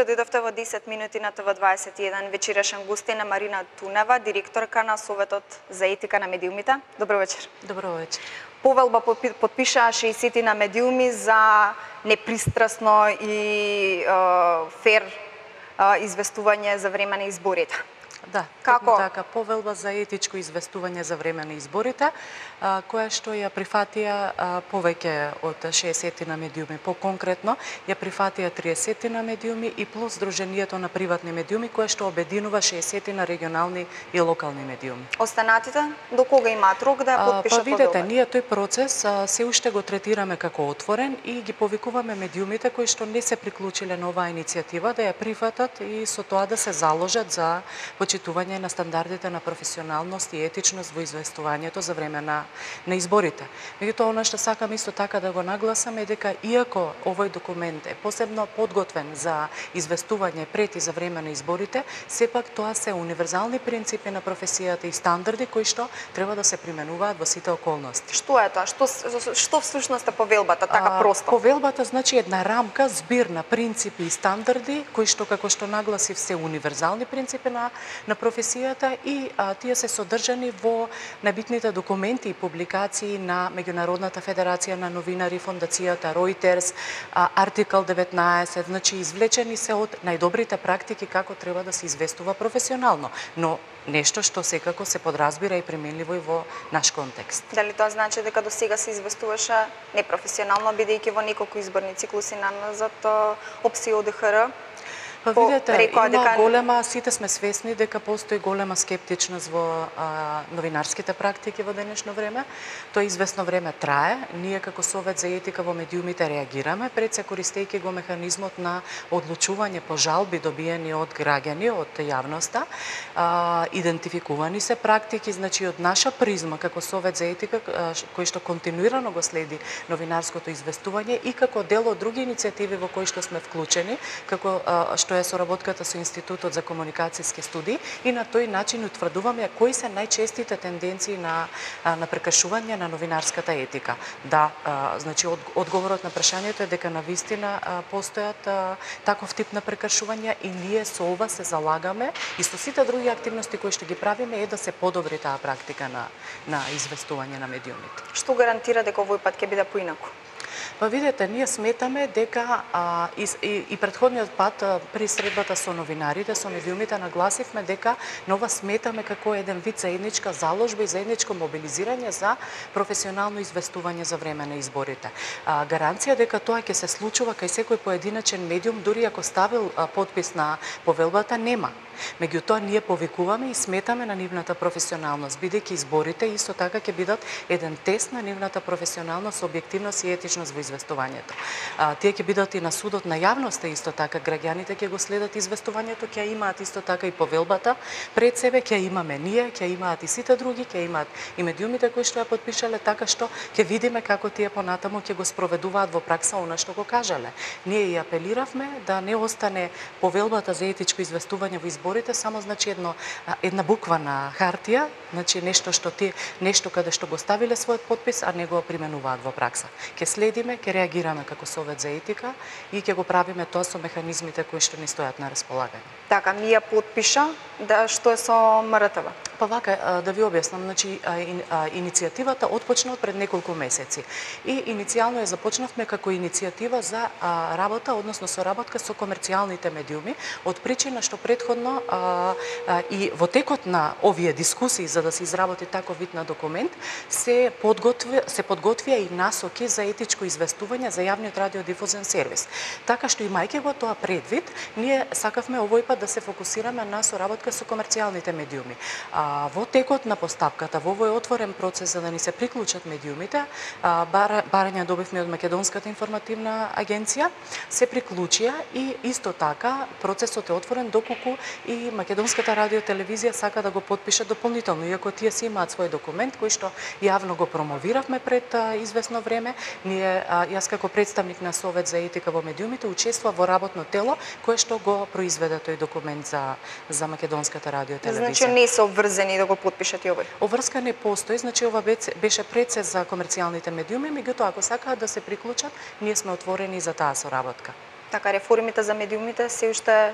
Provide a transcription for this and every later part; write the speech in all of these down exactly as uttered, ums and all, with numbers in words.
Добро дојдовте во десет минути на Т В дваесет и еден. Вечерашен гостин е Марина Тунева, директорка на Советот за етика на медиумите. Добро вечер. Добро вечер. Повелба потпишаа шеесет на медиуми за непристрасно и е, фер е, известување за време на изборите. Да, како така, повелба за етичко известување за време на изборите, а, која што ја прифатија а, повеќе од шеесет на медиуми. По-конкретно, ја прифатија триесет на медиуми и плюс Сдруженијето на приватни медиуми, кое што обединува шеесет на регионални и локални медиуми. Останатите, до кога имаат рок да ја потпишат повелба? Па видете, повелба? ние тој процес а, се уште го третираме како отворен и ги повикуваме медиумите кои што не се приклучиле на оваа иницијатива да ја прифатат и со тоа да се заложат за почитување на стандардите на професионалност и етичност во известувањето за време на, на изборите. Меѓутоа, она што сакам исто така да го нагласам е дека иако овој документ е посебно подготвен за известување пред и за време на изборите, сепак тоа се универзални принципи на професијата и стандарди кои што треба да се применуваат во сите околности. Што е тоа? Што, што всушност е повелбата, така просто? А, повелбата значи една рамка, збир на принципи и стандарди кои што, како што нагласив, се универзални принципи на на професијата и а, тие се содржани во најбитните документи и публикации на Меѓународната федерација на новинари, фондацијата Reuters, а, артикл деветнаесет, значи извлечени се од најдобрите практики како треба да се известува професионално, но нешто што секако се подразбира и применливо и во наш контекст. Дали тоа значи дека до сега се известуваше непрофесионално, бидејќи во неколку изборни циклуси назад ОПСИ и О Д Х Р? Па видете, има дека... голема, сите сме свесни дека постои голема скептичност во а, новинарските практики во денешно време. Тоа известно време трае. Ние како Совет за етика во медиумите реагираме, пред се користејќи го механизмот на одлучување по жалби добиени од граѓани, од јавноста. А, идентификувани се практики, значи од наша призма како Совет за етика, а, кој што континуирано го следи новинарското известување и како дел од други иницијативи во кои што сме вклучени, како а, што е соработката со Институтот за комуникацијски студии, и на тој начин утврдуваме кои се најчестите тенденции на на прекршување на новинарската етика. Да, а, значи од, одговорот на прашањето е дека навистина а, постојат а, таков тип на прекршувања и ние со ова се залагаме и со сите други активности кои што ги правиме е да се подобри таа практика на на известување на медиумите. Што гарантира дека овој пат ќе биде поинаку? Па видете, ние сметаме дека а, и, и, и претходниот пат а, при средбата со новинарите, со медиумите, нагласивме дека нова сметаме како еден вид заедничка заложба и заедничко мобилизирање за професионално известување за време на изборите. А, гаранција дека тоа ќе се случува кај секој поединачен медиум, дури ако ставил а, подпис на повелбата, нема. Меѓутоа, ние повикуваме и сметаме на нивната професионалност, бидејќи изборите исто така ќе бидат еден тест на нивната професионалност, објективност и етичност во известувањето. А, тие ќе бидат и на судот на јавноста исто така, граѓаните ќе го следат известувањето, ќе имаат исто така и повелбата пред себе, ќе имаме ние, ќе имаат и сите други, ќе имаат и медиумите кои што ја потпишале, така што ќе видиме како тие понатаму ќе го спроведуваат во пракса она што го кажале. Ние и апелиравме да не остане повелбата за етичко известување во изборите само значи едно една буква на хартија, значи нешто што ти нешто каде што го ставиле својот подпис, а не го применуваат во пракса. Ќе следиме, ќе реагираме како Совет за етика и ќе го правиме тоа со механизмите кои што ни стојат на располагање. Така, ми ја потпиша, да што е со М Р Т В? Па вака, да ви објаснам, значи иницијативата отпочна пред неколку месеци и иницијално ја започнавме како иницијатива за работа, односно соработка со комерцијалните медиуми, од причина што претходно а, а, и во текот на овие дискусии за да се изработи таков вид на документ се подготви се подготвија и насоки за етичко известување за јавниот радиодифузен сервис. Така што имајќи го тоа предвид, ние сакавме овој пат да се фокусираме на соработка со комерцијалните медиуми. А, во текот на постапката, во овој отворен процес за да ни се приклучат медиумите, а, бар, барања добивме од Македонската информативна агенција, се приклучија и исто така процесот е отворен доколку и Македонската радиотелевизија сака да го потпише дополнително, иако тие си имаат свој документ кој што јавно го промовиравме пред а, известно време. Ние, а, јас како представник на Совет за етика во медиумите учествував во работно тело кое што го произведе тој документ за за Македонската радиотелевизија. Значи не се обврзани да го потпишат и овој. Обврска не постои, значи ова беше процес за комерцијалните медиуми, меѓутоа ако сакаат да се приклучат, ние сме отворени за таа соработка. Така, реформите за медиумите се уште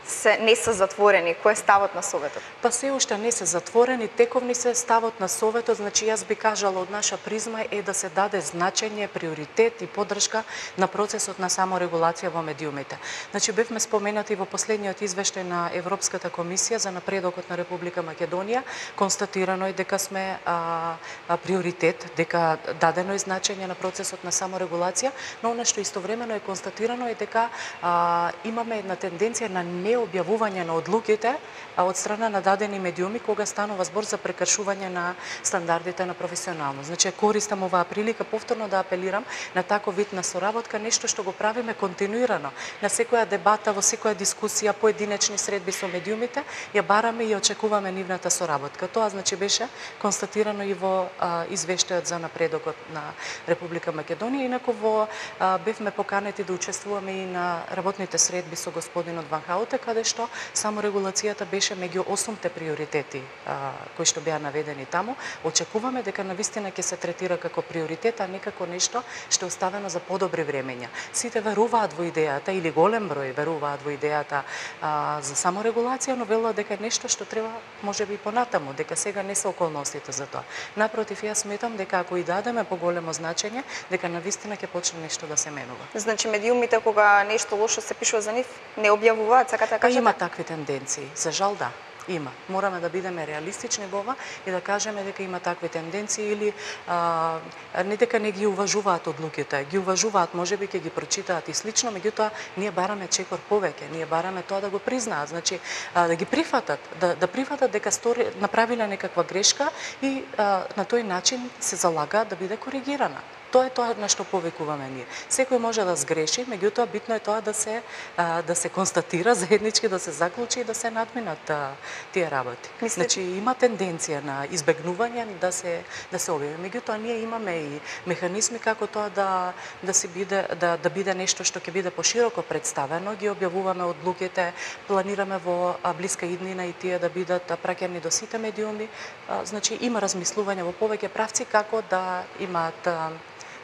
се не се затворени. Кој е ставот на Советот? Па се уште не се затворени, тековни се ставот на Советот, значи јас би кажала од наша призма е да се даде значење, приоритет и поддршка на процесот на саморегулација во медиумите. Значи бевме споменати во последниот извештај на Европската комисија за напредокот на Република Македонија, констатирано е дека сме а, а, приоритет, дека дадено е значење на процесот на саморегулација, но она што истовремено е констатирано е дека а, имаме една тенденција на не објавување на одлуките од страна на дадени медиуми кога станува збор за прекршување на стандардите на професионално. Значи користам оваа прилика повторно да апелирам на таков вид на соработка, нешто што го правиме континуирано. На секоја дебата, во секоја дискусија, поединечни средби со медиумите, ја бараме и очекуваме нивната соработка. Тоа значи беше констатирано и во а, извештајот за напредокот на Република Македонија, инаку во а, бевме поканети да учествуваме и на работните средби со господинот Ван Хауте, каде што саморегулацијата беше меѓу осумте приоритети а, кои што беа наведени таму. Очекуваме дека навистина ќе се третира како приоритет, а не како нешто што е оставено за подобри времења. Сите веруваат во идејата, или голем број веруваат во идејата а, за саморегулација, но велат дека е нешто што треба можеби и понатаму, дека сега не се околностите за тоа. Напротив, јас сметам дека ако и дадеме поголемо значење, дека навистина ќе почне нешто да се менува. Значи медиумите кога нешто лошо се пишува за нив, не објавуваат, сакате да кажете? Има такви тенденции, за жал да. Има. Мораме да бидеме реалистични во ова и да кажеме дека има такви тенденции или а, не дека не ги уважуваат одлуките, ги уважуваат, можеби ќе ги прочитаат и слично, меѓутоа ние бараме чекор повеќе, ние бараме тоа да го признаат, значи а, да ги прифатат, да, да прифатат дека стори, направиле некаква грешка и а, на тој начин се залагаат да биде коригирана. Тоа е тоа на што повикуваме ние. Секој може да сгреши, меѓутоа битно е тоа да се а, да се констатира заеднички, да се заклучи и да се надминат а, тие работи. Мисли... Значи има тенденција на избегнување да се да се објави. Меѓутоа ние имаме и механизми како тоа да да се биде да да биде нешто што ќе биде пошироко представено, ги објавуваме одлуките, планираме во а, блиска иднина и тие да бидат праќани до сите медиуми. А, значи има размислување во повеќе правци како да имаат а,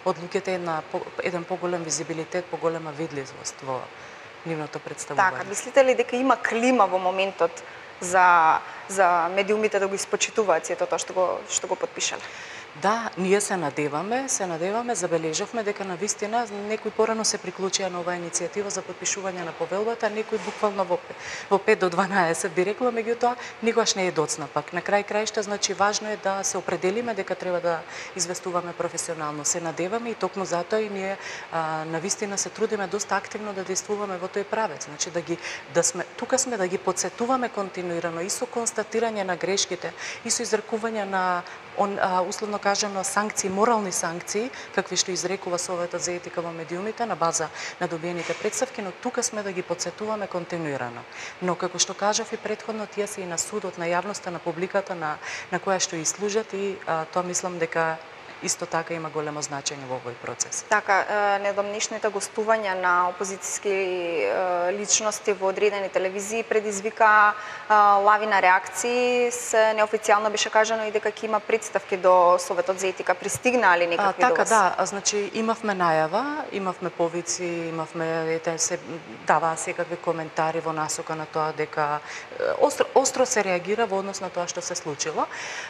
одлуките една еден поголем визибилитет, поголема видливост во нивното представување. Така, мислите ли дека има клима во моментот за за медиумите да го испочитуваат сето тоа што го што го потпишале? Да, ние се надеваме, се надеваме, забележавме дека навистина некои порано се приклучија на оваа иницијатива за потпишување на повелбата, некои буквално во во пет до дванаесет би рекла, меѓутоа никогаш не е доцна пак. На крај краишта, значи важно е да се определиме дека треба да известуваме професионално. Се надеваме и токму затоа и ние а, навистина се трудиме доста активно да действуваме во тој правец, значи да ги да сме тука сме да ги потсетуваме континуирано и со констатирање на грешките и со изрекување на он а, условно кажано санкции, морални санкции, какви што изрекува Советот за етика во медиумите на база на добиените претставки, но тука сме да ги потсетуваме континуирано. Но како што кажав и претходно, тие се и на судот, на јавноста, на публиката на на која што и служат и а, тоа мислам дека исто така има големо значење во овој процес. Така, недомнешните гостувања на опозициски личности во одредени телевизии предизвика лавина реакции. Се неофицијално беше кажано и дека ќе има представки до Советот за етика. Пристигнале некакви а, до така, вас? Така, да, значи имавме најава, имавме повици, имавме ете се даваа секакви коментари во насока на тоа дека остро, остро се реагира во однос на тоа што се случило.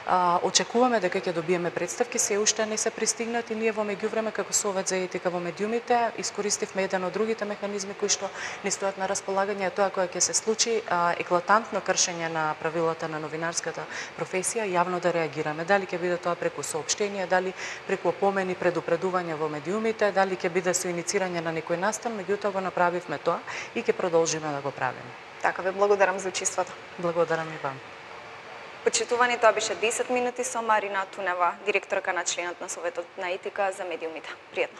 А, очекуваме дека ќе добиеме представки, се уште не се пристигнат и ние во меѓувреме како Совет за етика во медиумите искористивме еден од другите механизми кои што ни стојат на располагање, тоа кога ќе се случи а, еклатантно кршење на правилата на новинарската професија, јавно да реагираме. Дали ќе биде тоа преку соопштенија, дали преку опомени, предупредување во медиумите, дали ќе биде со иницирање на некој настан, меѓутоа го направивме тоа и ќе продолжиме да го правиме. Така, ве благодарам за учеството. Благодарам и вам. Почитувани, тоа беше десет минути со Марина Тунева, директорка на членот на Советот на етика за медиумите. Пријатно.